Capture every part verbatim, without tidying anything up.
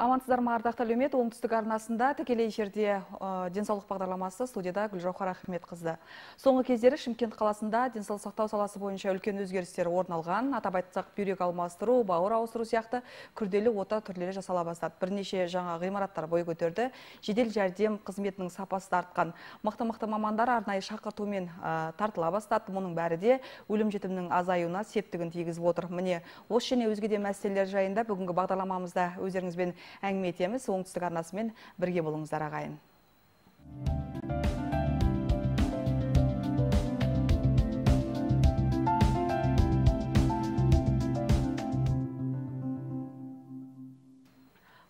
Амансыздар ма, ардақты әлеумет, оңтүстік арнасында тікелей эфирде денсаулық бағдарламасы, студияда Гүлжауһар Ахметқызы. Соңғы кездері Шымкент қаласында денсаулық сақтау саласы бойынша үлкен өзгерістер орын алған. Атап айтсақ, бүйрек алмастыру, бауыр ауыстыру сияқты күрделі ота түрлері жасала бастады. Бірнеше жаңа ғимараттар бой көтерді. Жедел жәрдем қызметінің сапасы артқан. Мықты-мықты мамандар арнайы шақыртумен тартыла бастады. Мұның бәрі де өлім жітімнің азаюына септігін тигізіп отыр. Міне, осы және өзге де мәселелер жайында бүгінгі бағдарламамызда өздеріңізбен әңгіме етеміз. Оңтүстік арнасымен бірге болыңыздар ағайын.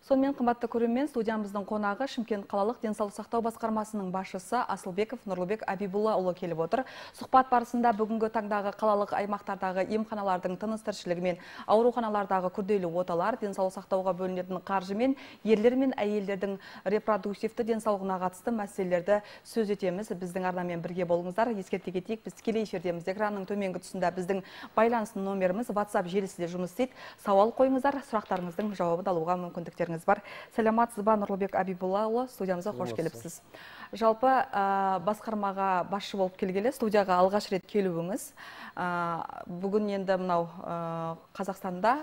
Сонымен қымбатты көрермен, студиямыздың қонағы Шымкент қалалық денсаулық сақтау басқармасының басшысы Асылбеков Нұрлыбек Абибуллаұлы келіп отыр. Сұхбат барысында бүгінгі таңдағы қалалық аймақтардағы емханалардың тыныс-тіршілігі мен ауруханалардағы күрделі оталар, денсаулық сақтауға бөлінетін қаржы мен ерлер мен әйелдердің репродуктивті денсаулығына қатысты мәселелерді сөз етеміз. Біздің арнамен бірге болыңыздар. Ескерте кетейік, біз тікелей эфирдеміз. Экранның төменгі тұсында біздің байланыс номеріміз WhatsApp желісінде жұмыс істейді. Сауал қойыңыздар, сұрақтарыңыздың жауабын алуға мүмкіндіктеріңіз бар. Сәлематсыз ба, Нұрлыбек Абибуллаұлы, студиямызға қош келіпсіз. Жалпы басқармаға басшы болып келгелі, студияға алғаш рет келуіңіз. Бүгін енді мынау Қазақстанда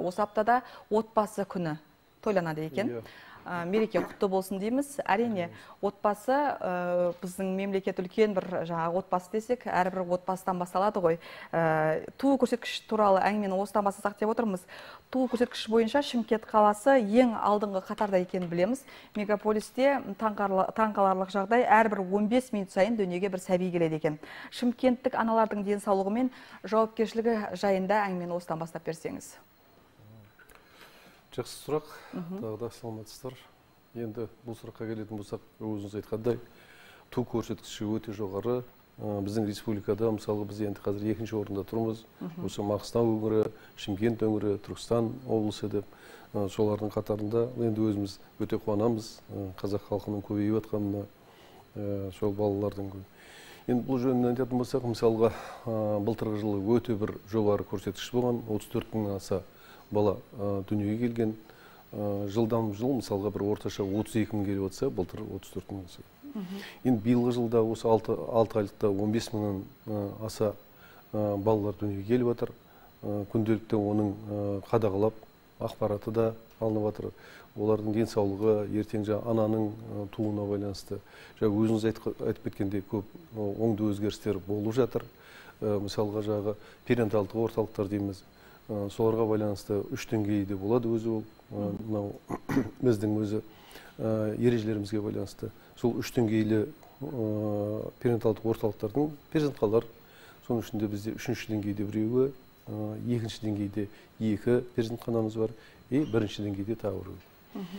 осы аптада отбасы күні тойланады екен. Мереке құтты болсын дейміз. Әрине, отбасы біздің мемлекет үлкен бір жаңағы отбасы десек, әрбір отбасыдан басталады ғой. Туу көрсеткіш туралы әңгімені осыдан бастасақ деп отырмыз. Туу көрсеткіш бойынша Шымкент қаласы ең алдыңғы қатарда екенін білеміз. Мегаполисте таңқаларлық жағдай, әрбір он бес минут сайын дүниеге бір сәби келеді екен. Шымкенттік аналардың денсаулығы мен жауапкершілігі жайында әңгімені осыдан бастап берсеңіз. Жақсы сұрақ, тағы да саламатсыздар. Енді бұл сұраққа келетін болсақ, өзіңіз айтқандай, туу көрсеткіші өте жоғары. Біздің республикада, мысалы, біз енді қазір екінші орында тұрмыз. Осы Маңғыстау өңірі, Шымкент өңірі, Түркістан облысы деп, солардың қатарында енді өзіміз өте қуанамыз. Қазақ халқының көбейіп жатқанына, сол балалардың көп. Енді бұл жөнінен айтатын болсақ, мысалға, былтырғы жылы өте бір жоғары көрсеткіш болған, отыз төрт мыңнан аса бала дүниеге келген. Жылдан жыл, мысалға, бір орташа отыз екі мың келіп отса, былтыр отыз төрт мың аса. Енді биылғы жылда осы алты айлықта он бес мыңнан аса балалар дүниеге келіп отыр. Күнделікті оның қадағалап, ақпараты да алынып отыр. Олардың денсаулығы, ертең ананың туына байланысты. Өзіңіз айтып кеткенде көп оңды өзгерістер болып жатыр. Мысалға, жағы перинаталдық орталықтар дейміз. Соларға байланысты үш деңгейде болады өзі ол. Біздің өзі ережелерімізге байланысты. Сол үш деңгейлі перинаталдық орталықтардың перзентханалар. Соның ішінде бізде үшінші деңгейде біреуі, екінші деңгейде екі перзентханамыз бар, и бірінші деңгейде тағы біреуі.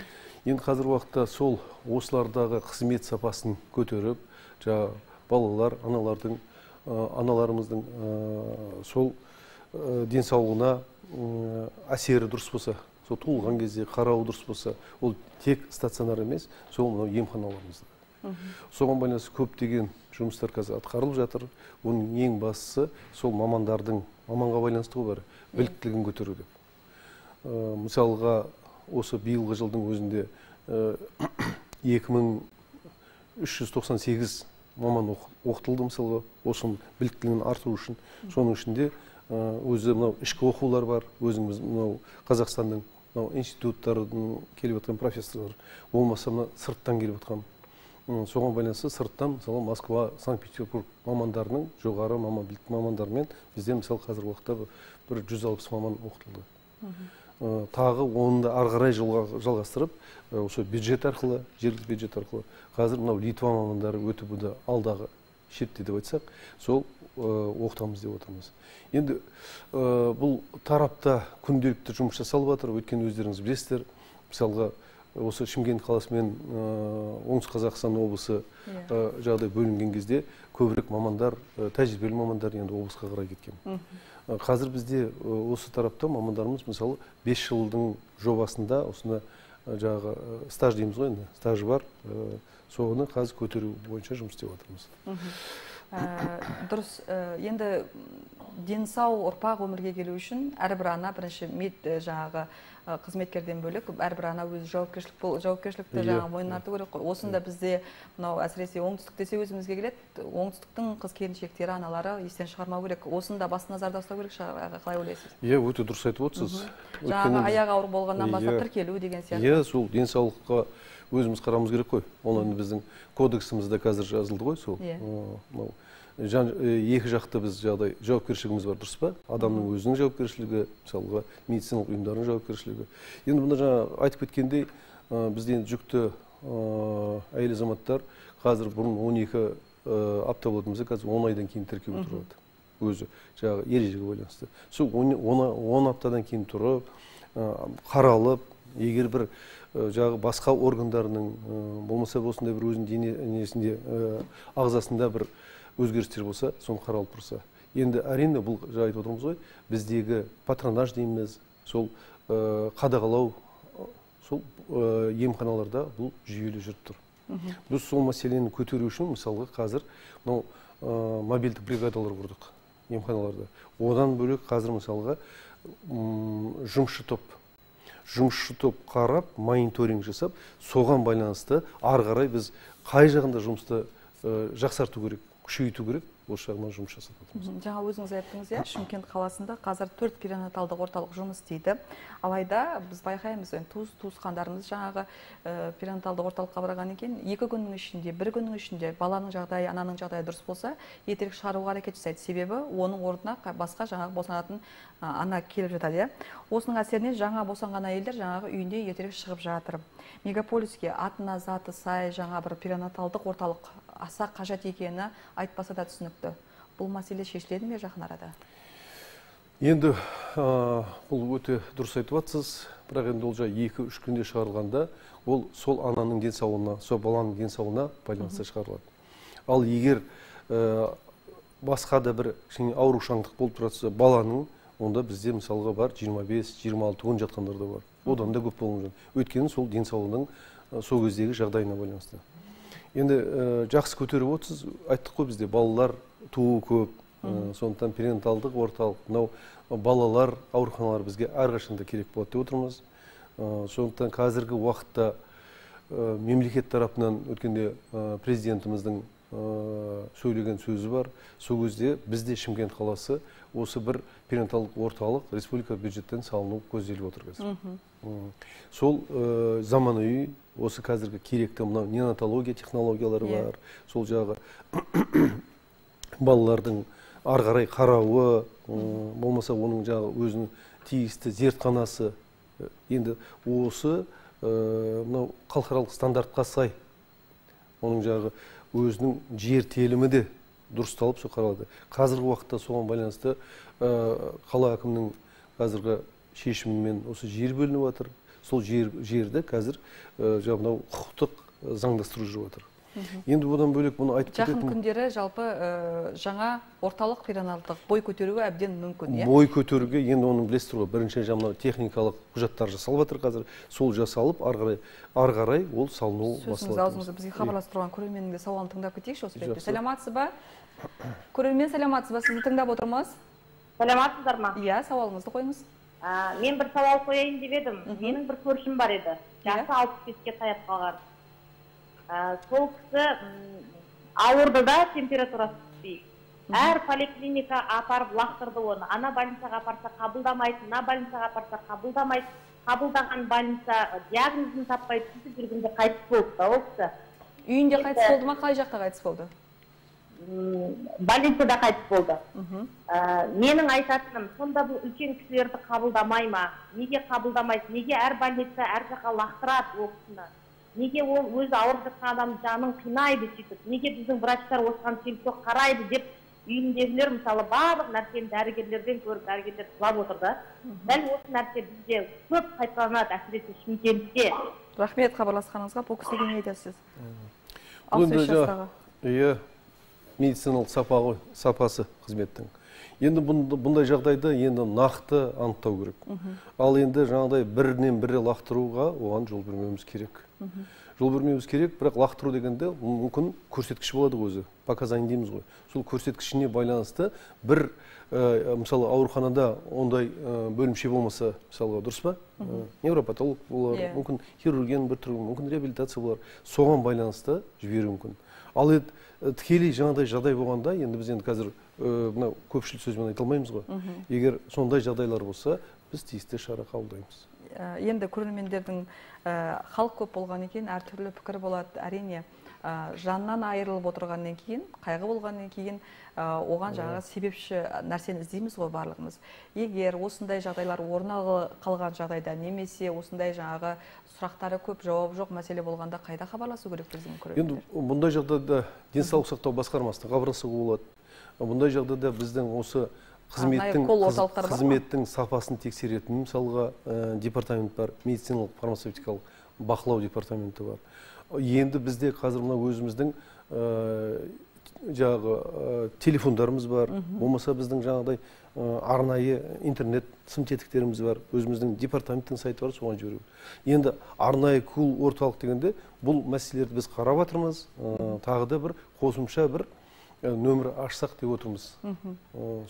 Енді қазір уақытта сол осылардағы қызмет сапасын көтеріп, балалар, аналардың, аналарымыздың сол денсаулығына әсері дұрыс болса, сол туылған кезде қарауы дұрыс болса, ол тек стационар емес, сол мынау емханаларымызда. Соған байланысты көптеген жұмыстар қазір атқарылып жатыр. Оның ең бастысы сол мамандардың, маманға байланысты ғой бәрі, біліктілігін көтеру деп. Мысалға, осы биылғы жылдың өзінде екі мың үш жүз тоқсан сегіз маман оқытылды, мысалға, осы біліктілігін артыру үшін. Соның ішінде өзі мынау ішкі оқулар бар, өзіміз мынау Қазақстанның институттарының келіп отқан профессорлар, болмаса сырттан келіп отқан. Соған байланысты сырттан, мысалы, Москва, Санкт-Петербург мамандарының, жоғары мамандармен бізде, мысалы, қазір уақытта бір жүз алпыс маман оқытылды. Тағы оны да ары қарай жалғастырып, осы бюджет арқылы, жергілікті бюджет арқылы, қазір мынау Литва мамандары өтіп бұда алдағы шетте деп айтсақ, сол оқытамыз деп отырмыз. Енді бұл тарапта күнделікті жұмыс жасалып жатыр, өйткені өздеріңіз білесіздер, мысалға, осы Шымкент қаласы мен оңтүстік Қазақстан облысы жағдай бөлінген кезде көбірек мамандар, тәжірибелі мамандар енді облысқа қарай кеткен. Қазір бізде осы тарапта мамандарымыз, мысалы, бес жылдың жобасында осына жаңағы стаж дейміз ғой, енді стажы бар, соны қазір көтеру бойынша жұмыс істеп жатырмыз. Дұрыс, енді денсау ұрпақ өмірге келу үшін әрбір ана бірінші мед жаңағы қызметкерден бөлек әрбір ана өзі жауапкершілік жауапкершілікті жаңағы мойнына арту керек қой. Осында бізде мынау әсіресе оңтүстік десе өзімізге келеді. Оңтүстіктің қыз келіншектері, аналары естен шығармау керек. Осында басты назарда ұстау керек шығар, қалай ойлайсыз? Иә, өте дұрыс айтып отырсыз. Жаңағы аяқ ауыр болғаннан бастап тіркелу деген сияқты. Иә, сол денсаулыққа өзіміз қарамыз керек қой. Оны біздің кодексімізде қазір жазылды ғой, сол. Екі жақты біз жағдай жауапкершілігіміз бар, дұрыс па? Адамның өзінің жауапкершілігі, мысалға медициналық ұйымдардың жауапкершілігі. Енді бұнда жаңа айтып кеткендей, бізде жүкті әйел азаматтар қазір бұрын он екі апта болатын болса, қазір он айдан кейін тіркеуге тұрады. Өзі жаңағы ережеге байланысты. Сол он аптадан кейін тұрып, қаралып, егер бір жаңағы басқа органдарының болмаса осындай бір өзінің денесінде, ағзасында бір өзгерістер болса, соны қаралып тұрса. Енді әрине бұл жаңа айтып отырмыз ғой, біздегі патронаж дейміз, сол қадағалау, сол емханаларда бұл жүйелі жүріп тұр. Біз сол мәселені көтеру үшін, мысалға қазір мобильдік бригадалар құрдық емханаларда. Одан бөлек қазір мысалға жұмысшы топ, жұмысшы топ қарап, мониторинг жасап, соған байланысты ары қарай біз қай жағында жұмысты жақсарту керек, күшейту керек, осы жағынан жұмыс жасап жатырмыз. Жаңа өзіңіз айттыңыз, иә, Шымкент қаласында қазір төрт перинаталдық орталық жұмыс істейді. Алайда біз байқаймыз, туыс туысқандарымыз жаңағы перинаталдық орталыққа барғаннан кейін екі күннің ішінде, бір күннің ішінде баланың жағдайы, ананың жағдайы дұрыс болса, ертерек шығаруға әрекет жасайды. Себебі оның орнына басқа жаңағы босанатын ана келіп жатады, иә. Осының әсерінен жаңа босанған әйелдер жаңағы үйінде ертерек шығып жатыр. Мегаполиске атына заты сай жаңа бір перинаталдық орталық аса қажет екені айтпаса да түсінікті. Бұл мәселе шешіледі ме жақын арада? Енді бұл өте дұрыс айтып жатсыз, бірақ енді ол жай екі-үш күнде шығарылғанда, ол сол ананың денсаулығына, сол баланың денсаулығына байланысты шығарылады. Ал егер басқа да бір аурушаңдық болып тұрса баланың, онда бізде мысалға бар жиырма бес жиырма алты күн жатқандар да бар. Одан да көп болуы. Өйткені сол денсаулығының сол кездегі жағдайына байланысты. Енді жақсы көтеріп отырсыз, айттық қой бізде балалар туу көп, сондықтан перинаталдық орталық, мынау балалар ауруханалары бізге әрқашанда керек болады деп отырмыз. Сондықтан қазіргі уақытта мемлекет тарапынан өткенде президентіміздің сөйлеген сөзі бар. Сол кезде бізде Шымкент қаласы осы бір перинаталдық орталық республика бюджеттен салыну көзделіп отыр қазір. Сол заманауи осы қазіргі керекті мынау неонатология технологиялары бар. Сол жағы балалардың ары қарай қарауы, болмаса оның жағы өзінің тиісті зертханасы. Енді осы мынау халықаралық стандартқа сай оның жағы өзінің жер телімі де дұрысталып сол қаралады. Қазіргі уақытта соған байланысты қала әкімінің қазіргі шешімімен осы жер бөлініп жатыр. Сол жерді қазір мынау құқықтық заңдастыру жүріп жатыр. Енді одан бөлек бұны айтып кететін. Жақын күндері жалпы жаңа орталық перинаталдық бой көтеруі әбден мүмкін, иә? Бой көтеруге енді оның білесіздер ғой, бірінші жаңа техникалық құжаттар жасалып жатыр қазір. Сол жасалып, ары қарай ол салыну басталады. Сөзіңіз аузыңызда бізге хабарласып тұрған көрерменнің де сауалын тыңдап кетейікші осы ретте. Сәлеметсіз ба? Көрермен, сәлеметсіз ба? Сізді тыңдап отырмыз. Сәлеметсіздер ма? Иә, сауалыңызды қойыңыз. Мен бір сауал қояйын деп едім. Менің бір көршім бар еді. Жасы алпыс беске таяп қалған. Сол кісі ауырды да, температурасы түспей. Әр поликлиника апарып лақтырды оны. Ана больницаға апарса қабылдамайды, мына больницаға апарса қабылдамайды. Қабылдаған больница диагнозын таппай түсіп жүргенде қайтыс болды да ол кісі. Үйінде қайтыс болды ма, қай жақта қайтыс болды? Больницада қайтыс болды. Менің айтатыным, сонда бұл үлкен кісілерді қабылдамай ма? Неге қабылдамайды? Неге әр больница әр жаққа лақтырады ол кісіні? Неге ол өзі ауырып жатқан адамның жанын қинайды сөйтіп? Неге біздің врачтар осыған селсоқ қарайды деп үйіндегілер мысалы барлық нәрсені дәрігерлерден көріп, дәрігерлер жылап отыр да. Дәл осы нәрсе бізде көп қайталанады, әсіресе Шымкентте. Рахмет хабарласқаныңызға. Бұл кісіге не айтасыз? Иә, медициналық сапасы қызметтің. Енді бұндай жағдайда енді нақты анықтау керек. Ал енді жаңағыдай бірінен бірі лақтыруға оған жол бермеуіміз керек. Жол бермеуіміз керек, бірақ лақтыру дегенде мүмкін көрсеткіш болады өзі. Показания дейміз ғой. Сол көрсеткішіне байланысты бір мысалы ауруханада ондай бөлімше болмаса, мысалға дұрыс па? Невропатолог болар, мүмкін хирургияның бір түрі, мүмкін реабилитация болар. Соған байланысты жіберу мүмкін. Ал енді тікелей жаңағыдай жағдай болғанда, енді біз енді қазір мынау көпшілік сөзбен айта алмаймыз ғой. Егер сондай жағдайлар болса, біз тиісті шара қабылдаймыз. Енді көрермендердің халық көп болған екен, әртүрлі пікір болады. Әрине, жаннан айырылып отырғаннан кейін, қайғы болғаннан кейін, оған жаңағы себепші нәрсені іздейміз ғой барлығымыз. Егер осындай жағдайлар орын қалған жағдайда, немесе осындай жаңағы сұрақтары көп, жауап жоқ мәселе болғанда қайда хабарласу керек біздің көрермендер? Енді бұндай жағдайда денсаулық сақтау басқармасына хабарласуға болады. Бұндай жағдайда біздің осы қызметтің қызметтің сапасын тексеретін мысалға департамент бар, медициналық фармацевтикалық бақылау департаменті бар. Енді бізде қазір мына өзіміздің жаңағы телефондарымыз бар, болмаса біздің жаңағыдай арнайы интернет сым тетіктеріміз бар, өзіміздің департаменттің сайты бар, соған жіберу. Енді арнайы кул орталық дегенде бұл мәселелерді біз қарап жатырмыз, тағы да бір қосымша бір нөмір ашсақ деп отырмыз.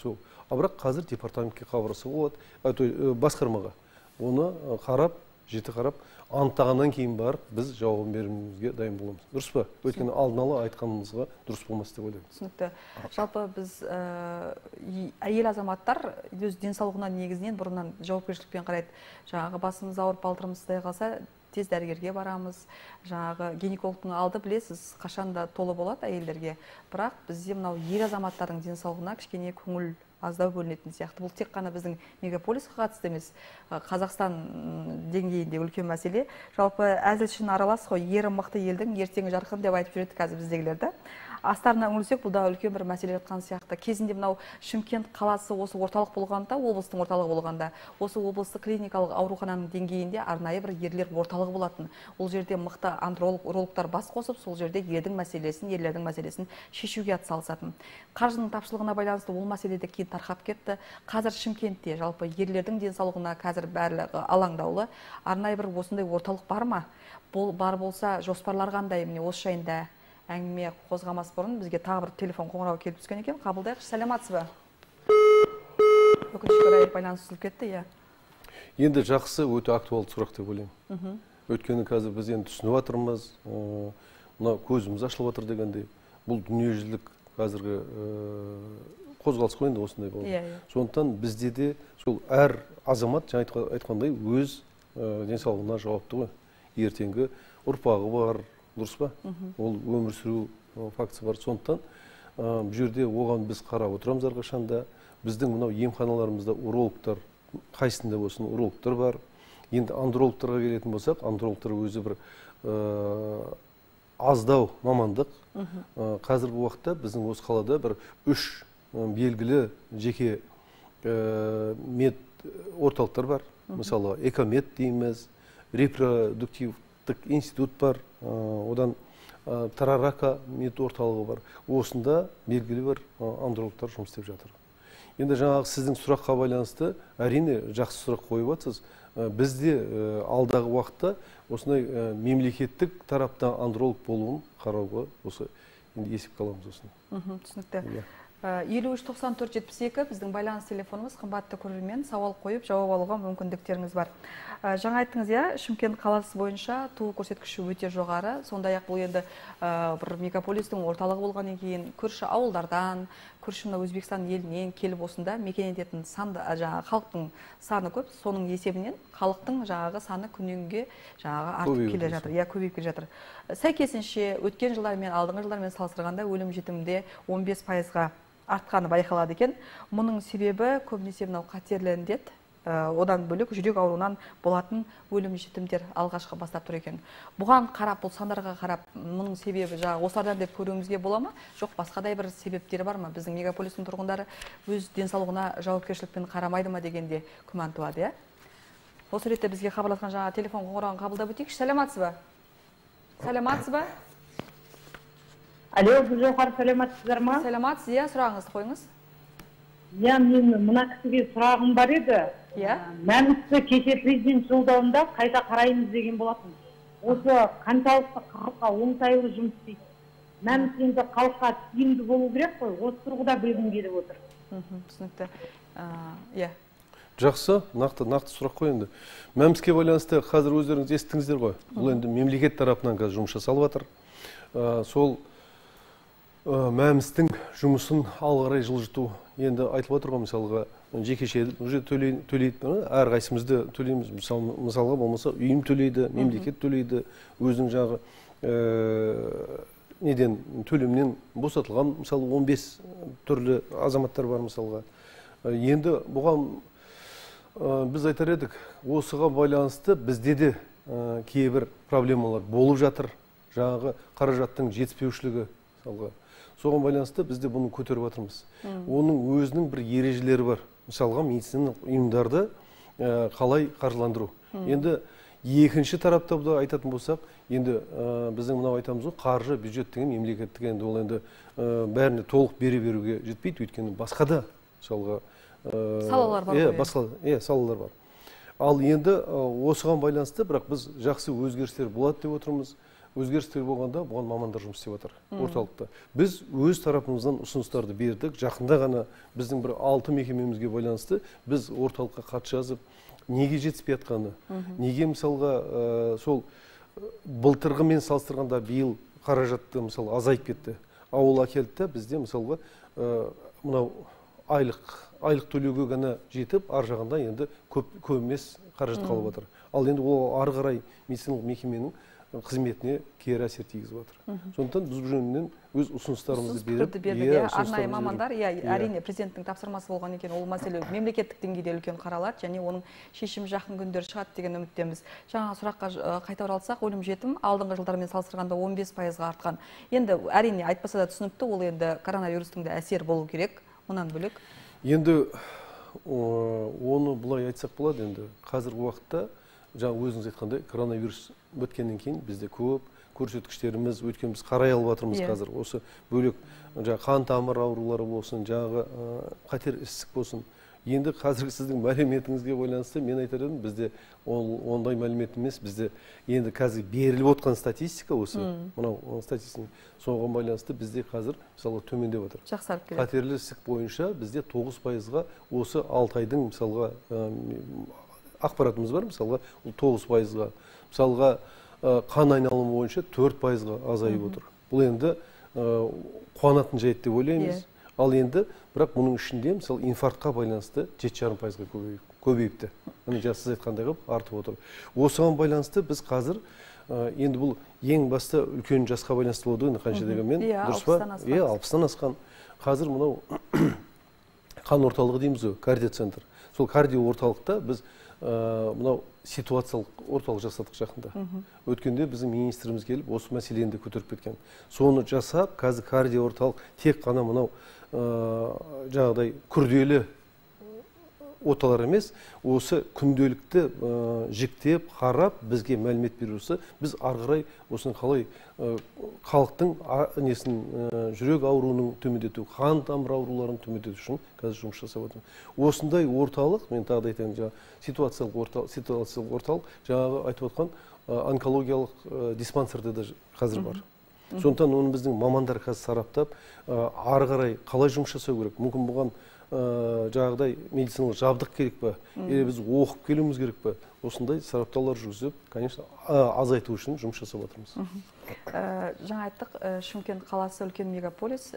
Сол. А бірақ қазір департаментке хабарласуға болады, басқармаға. Оны қарап, жіті қарап, анықтағаннан кейін бар, біз жауабын беруімізге дайын боламыз. Дұрыс па? Өйткені алдын ала айтқанымызға дұрыс болмас деп ойлаймын. Түсінікті. Жалпы біз әйел азаматтар өз денсаулығына негізінен бұрыннан жауапкершілікпен қарайды. Жаңағы басымыз ауырып балтырымыз сыздай қалса, тез дәрігерге барамыз. Жаңағы гинекологтың алды білесіз, қашанда толы болады әйелдерге. Бірақ бізде мынау ер азаматтардың денсаулығына кішкене көңіл аздау бөлінетін сияқты. Бұл тек қана біздің мегаполисқа қатысты емес, Қазақстан деңгейінде үлкен мәселе. Жалпы әзілшін аралас қой, ері мықты елдің ертеңі жарқын деп айтып жүреді қазір біздегілерді. Астарына үңілсек, бұл да үлкен бір мәселе жатқан сияқты. Кезінде мынау Шымкент қаласы осы орталық болғанда, облыстың орталығы болғанда, осы облыстық клиникалық аурухананың деңгейінде арнайы бір ерлер орталығы болатын. Ол жерде мықты андрологтар бас қосып, сол жерде елдің мәселесін, ерлердің мәселесін шешуге атсалысатын. Қаржының тапшылығына байланысты ол мәселе де кейін тарқап кетті. Қазір Шымкентте жалпы ерлердің денсаулығына қазір барлығы алаңдаулы. Арнайы бір осындай орталық бар ма? Бұл бар болса, жоспарлар қандай? Міне осы жайында әңгіме қозғамас бұрын бізге тағы бір телефон қоңырауы келіп түскен екен. Қабылдайықшы. Сәлематсыз ба? Өкінішке орай байланыс үзіліп кетті, иә. Енді жақсы, өте актуалды сұрақ деп ойлаймын. Өйткені қазір біз енді түсініп жатырмыз, мына көзіміз ашылып жатыр дегенде, бұл дүниежүзілік қазіргі қозғалыс қой енді осындай болды. Сондықтан бізде де сол әр азамат жаңа айтқандай өз денсаулығына жауапты ғой. Ертеңгі ұрпағы бар, дұрыс па? Ол өмір сүру фактісі бар. Сондықтан бұл жерде оған біз қарап отырамыз әрқашанда. Біздің мынау емханаларымызда урологтар, қайсында болсын урологтар бар. Енді андрологтарға келетін болсақ, андрологтар өзі бір аздау мамандық. Қазіргі уақытта біздің осы қалада бір үш белгілі жеке мед орталықтар бар. Мысалы, экомед дейміз, репродуктивтік институт бар, одан Тарарака мед орталығы бар. Осында белгілі бір андрологтар жұмыс істеп жатыр. Енді жаңағы сіздің сұраққа байланысты әрине жақсы сұрақ қойып жатсыз. Бізде алдағы уақытта осындай мемлекеттік тарапта андролог болуын қарауға осы енді есепке аламыз осыны. Түсінікті. елу үш тоқсан төрт жетпіс екі біздің байланыс телефонымыз. Қымбатты көрермен, сауал қойып жауап алуға мүмкіндіктеріңіз бар. Жаңа айттыңыз, иә, Шымкент қаласы бойынша туу көрсеткіші өте жоғары. Сондай-ақ бұл енді бір мегаполистің орталығы болғаннан кейін көрші ауылдардан, көрші Өзбекстан елінен келіп осында мекен ететін жаңағы халықтың саны көп. Соның есебінен халықтың жаңағы саны күннен-күнге жаңағы артып келе жатыр, иә, көбейіп келе жатыр. Сәйкесінше өткен жылдармен, алдыңғы жылдармен салыстырғанда өлім жітімде он бес пайызға артқаны байқалады екен. Мұның себебі көбінесе мынау қатерлі індет, одан бөлек жүрек ауруынан болатын өлім жітімдер алғашқы бастап тұр екен. Бұған қарап, бұл сандарға қарап, мұның себебі жаңағы осылардан деп көруімізге бола ма? Жоқ, басқадай бір себептері бар ма? Біздің мегаполистің тұрғындары өз денсаулығына жауапкершілікпен қарамайды ма дегенде күмән туады, иә? Осы ретте бізге хабарласқан жаңа телефон қоңырауын қабылдап өтейікші. Сәлематсыз ба? Сәлематсыз ба? Алло, Гүлжауһар, сәлематсыздар ма? Сәлематсыз, иә, сұрағыңызды қойыңыз. Иә, мен мына кісіге сұрағым бар еді. Иә. Мәмісі кеше президент жолдауында қайта қараймыз деген болатын. Осы қаншалықты халыққа оңтайлы жұмыс істейді. Мәмісі енді халыққа тиімді болу керек қой. Осы тұрғыда білгім келіп отыр. Түсінікті. Иә. Жақсы, нақты нақты сұрақ қой енді. Мәміске байланысты қазір өздеріңіз естіңіздер ғой. Бұл енді мемлекет тарапынан қазір жұмыс жасалып жатыр. Сол мәмістің жұмысын алға қарай жылжыту енді айтылып отыр ғой, мысалға жекеше уже төлейді, әрқайсымызды төлейміз. Мысалға болмаса үйім төлейді, мемлекет төлейді, өзінің жағы неден төлемнен босатылған, мысалы он бес түрлі азаматтар бар мысалға. Енді бұған біз айтар едік, осыға байланысты бізде де кейбір проблемалар болып жатыр. Жаңағы қаражаттың жетіспеушілігі мысалға. Соған байланысты бізде бұны көтеріп жатырмыз. Оның өзінің бір ережелері бар. Мысалға медициналық ұйымдарды қалай қаржыландыру. Енді екінші тарапта да айтатын болсақ, енді біздің мынау айтамыз ғой, қаржы бюджеттің мемлекеттік, енді ол енді бәріне толық бере беруге жетпейді, өйткені басқа да мысалға салалар бар. Иә, басқа, иә, салалар бар. Ал енді осыған байланысты, бірақ біз жақсы өзгерістер болады деп отырмыз. Өзгерістер болғанда бұған мамандар жұмыс істеп жатыр орталықта. Біз өз тарапымыздан ұсыныстарды бердік. Жақында ғана біздің бір алты мекемемізге байланысты біз орталыққа хат жазып, неге жетіспей жатқаны, неге мысалға сол былтырғымен салыстырғанда биыл қаражатты мысалы азайып кетті. Ауыл әкелді де бізде мысалға мынау айлық айлық төлеуге ғана жетіп, ар жағында енді көп емес қаражат қалып жатыр. Ал енді ол ары қарай медициналық мекеменің қызметіне кері әсер тигізіп жатыр. Сондықтан біз бұл жөнінен өз ұсыныстарымызды беріп, арнайы мамандар, әрине президенттің тапсырмасы болған екен, ол мәселе мемлекеттік деңгейде үлкен қаралады, және оның шешімі жақын күндер шығады деген үміттеміз. Жаңа сұраққа қайта оралсақ, өлім жітім алдыңғы жылдармен салыстырғанда он бес пайызға артқан. Енді әрине айтпаса да түсінікті, ол енді коронавирустың да әсер болу керек, мұнан бөлек. Енді оны бұлай айтсақ болады, енді қазіргі уақытта жаңа өзіңіз айтқандай коронавирус өткеннен кейін бізде көп көрсеткіштеріміз, өткен біз қарай алып жатырмыз қазір. Осы бөлек жаңа қан тамыр аурулары болсын, жаңағы қатер ісік болсын. Енді қазіргі сіздің мәліметіңізге байланысты мен айтар едім, бізде ондай мәлімет емес, бізде енді қазір беріліп отқан статистика осы, мынау статистика соған байланысты бізде қазір мысалы төмендеп отыр. Жақсарып келеді. Қатерлі ісік бойынша бізде тоғыз пайызға осы алты айдың мысалға ақпаратымыз бар, мысалға тоғыз пайызға, мысалға қан айналымы бойынша төрт пайызға азайып отыр. Бұл енді қуанатын жайт деп ойлаймыз. Ал енді бірақ мұның ішінде мысалы инфарктқа байланысты жеті жарым пайызға көбейіпті. Міне жаңа сіз айтқандай қылып артып отыр. Осыған байланысты біз қазір енді бұл ең басты үлкен жасқа байланысты болды, қанша дегенмен дұрыс па? Иә, алпыстан асқан. Қазір мынау қан орталығы дейміз ғой, кардиоцентр. Сол кардио орталықта біз мынау ситуациялық орталық жасадық жақында. Өткенде біздің министріміз келіп осы мәселені де көтеріп кеткен. Соны жасап, қазір кардио орталық тек қана мынау жаңағыдай күрделі оталар емес, осы күнделікті жіктеп, қарап, бізге мәлімет беруші, біз ары қарай осыны қалай халықтың несін жүрек ауруының төмендету, қан тамыр ауруларын төмендету үшін қазір жұмыс жасап отырмыз. Осындай орталық, мен тағы да айтайын, жаңа ситуациялық орталық, ситуациялық орталық, жаңағы айтып отқан онкологиялық диспансерде де қазір бар. Сондықтан оны біздің мамандар қазір сараптап, ары қарай қалай жұмыс жасау керек. Мүмкін бұған жаңағыдай медициналық жабдық керек па, или біз оқып келуіміз керек па, осындай сараптаулар жүргізіп, конечно, азайту үшін жұмыс жасап отырмыз. Жаңа айттық, Шымкент қаласы үлкен мегаполис.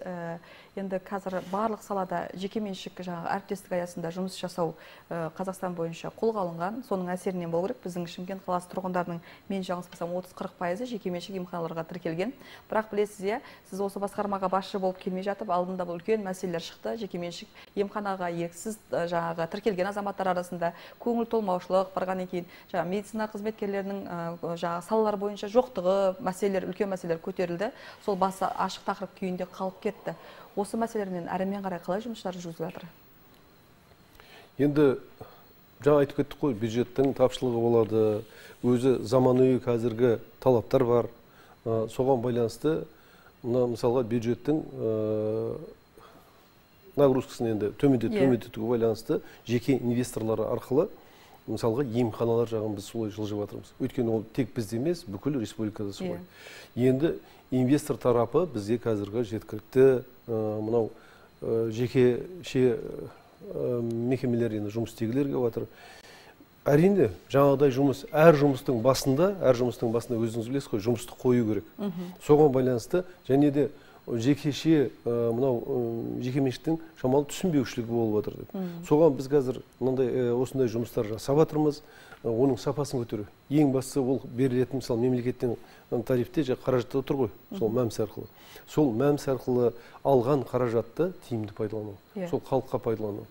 Енді қазір барлық салада жекеменшік әріптестік аясында жұмыс жасау Қазақстан бойынша қолға алынған. Соның әсерінен болу керек. Біздің Шымкент қаласы тұрғындарының, мен жаңылыспасам, отыз қырық пайызы жекеменшік емханаларға тіркелген. Бірақ білесіз, сіз осы басқармаға басшы болып келмей жатып, алдында бұл үлкен мәселелер шықты. Жекеменшік емханаға еріксіз жаңағы тіркелген азаматтар арасында көңіл толмаушылық барғаннан кейін, жаңа медицина қызметкерлерінің жаңа салалар бойынша жоқтығы, мәселелер, үлкен мәселелер көтерілді. Сол басы ашық тақырып күйінде қалып кетті. Осы мәселелермен әрімен қарай қалай жұмыстар жүргізіліп жатыр? Енді жаңа айтып кеттік қой, бюджеттің тапшылығы болады, өзі заманауи қазіргі талаптар бар. Соған байланысты, мысалға бюджеттің нагрузкасын енді төмендетуге байланысты жеке инвесторлары арқылы мысалға емханалар жағын біз солай жылжып жатырмыз. Өйткені ол тек бізде емес, бүкіл республикада солай. Енді инвестор тарапы бізде қазіргі жеткілікті мынау жекеше мекемелер енді жұмыс істегілер келіп жатыр. Әрине, жаңағыдай жұмыс, әр жұмыстың басында, әр жұмыстың басында өзіңіз білесіз ғой, жұмысты қою керек. Соған байланысты және де жекеше мынау жекеменшіктің шамалы түсінбеушілігі болып жатыр деп. Соған біз қазір мынандай осындай жұмыстар жасап жатырмыз, оның сапасын көтеру. Ең бастысы ол берілетін, мысалы, мемлекеттен тарифте қаражатта отыр ғой, сол мәмс арқылы. Сол мәмс арқылы алған қаражатты тиімді пайдалану, сол халыққа пайдалану.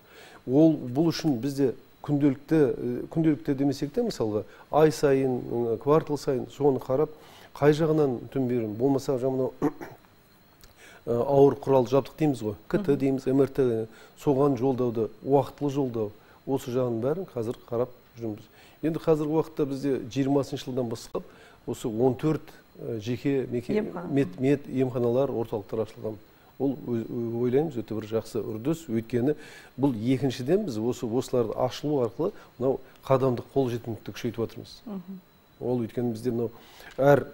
Ол бұл үшін бізде күнделікті, күнделікті демесек те, мысалға, ай сайын, квартал сайын соны қарап, қай жағынан түнберін, болмаса жаңағы ауыр құрал жабдық дейміз ғой, КТ дейміз, МРТ, соған жолдауды, уақытылы жолдау, осы жағын бәрін қазір қарап жүрміз. Енді қазір уақытта бізде жиырмасыншы жылдан бастап осы он төрт жеке мед емханалар, орталықтар ашылған. Ол ойлаймыз өте бір жақсы үрдіс, өйткені бұл екіншіден біз осы осыларды ашылу арқылы мынау қадамдық қолжетімділікті күшейтіп жатырмыз. Ол өйткені бізде мынау әр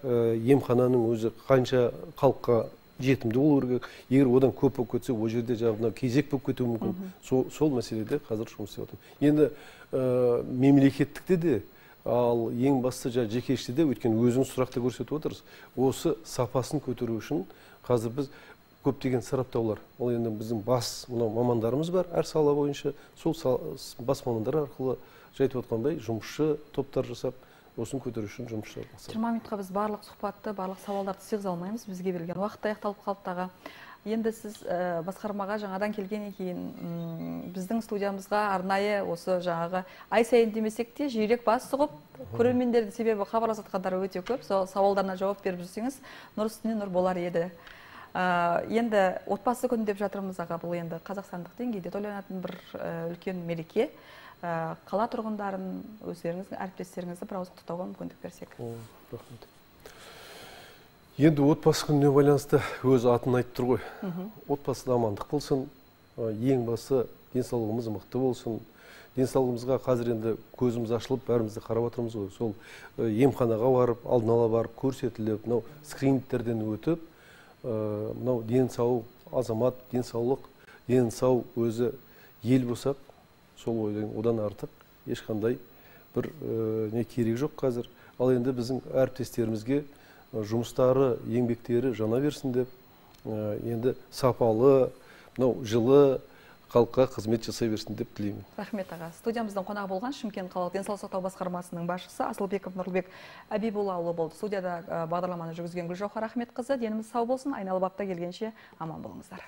емхананың өзі қанша халыққа жетімді болу керек. Егер одан көп болып кетсе, ол жерде жаңағы кезек болып кетуі мүмкін. Сол мәселеде қазір жұмыс істеп жатырмыз. Енді мемлекеттікте де, ал ең бастысы жекеште де, өйткені өзіңіз сұрақта көрсетіп отырсыз, осы сапасын көтеру үшін қазір біз көптеген сараптаулар, ол енді біздің бас мамандарымыз бар, әр сала бойынша, сол бас мамандар арқылы жайтып отқандай жұмысшы топтар жасап, осын көтеру үшін жұмыс жасап. жиырма минутқа біз барлық сұхбатты, барлық сауалдарды сыйғыза алмаймыз, бізге берілген уақыт аяқталып қалыптағы. Енді сіз басқармаға жаңадан келгеннен кейін біздің студиямызға арнайы осы жаңағы ай сайын демесек те жиірек бас сұғып, көрермендерді, себебі хабарласатқандар өте көп, сауалдарына жауап беріп жүрсеңіз, нұр үстіне нұр болар еді. Енді отбасы күні деп жатырмыз аға, бұл енді қазақстандық деңгейде тойланатын бір үлкен мереке. Қала тұрғындарын, өздеріңіздің әріптестеріңізді бір ауыз құттықтауға мүмкіндік берсек. Рахмет. Енді отбасы күніне байланысты өз атын айтып тұр ғой. Отбасыда амандық болсын, ең басы денсаулығымыз мықты болсын. Денсаулығымызға қазір енді көзіміз ашылып, бәрімізді қарап отырмыз ғой. Сол емханаға барып, алдын ала барып, көрсетіліп, мынау скринингтерден өтіп, мынау денсау азамат, денсаулық, денсау өзі ел болсақ, сол ойдан одан артық ешқандай бір не керек жоқ қазір. Ал енді біздің әріптестерімізге жұмыстары, еңбектері жана берсін деп, енді сапалы, мынау жылы халыққа қызмет жасай берсін деп тілеймін. Рахмет аға. Студиямыздың қонағы болған Шымкент қалалық денсаулық сақтау басқармасының басшысы Асылбеков Нұрлыбек Әбиболлаұлы болды. Студияда бағдарламаны жүргізген Гүлжауһар Ахметқызы. Деніміз сау болсын, айналып апта келгенше аман болыңыздар.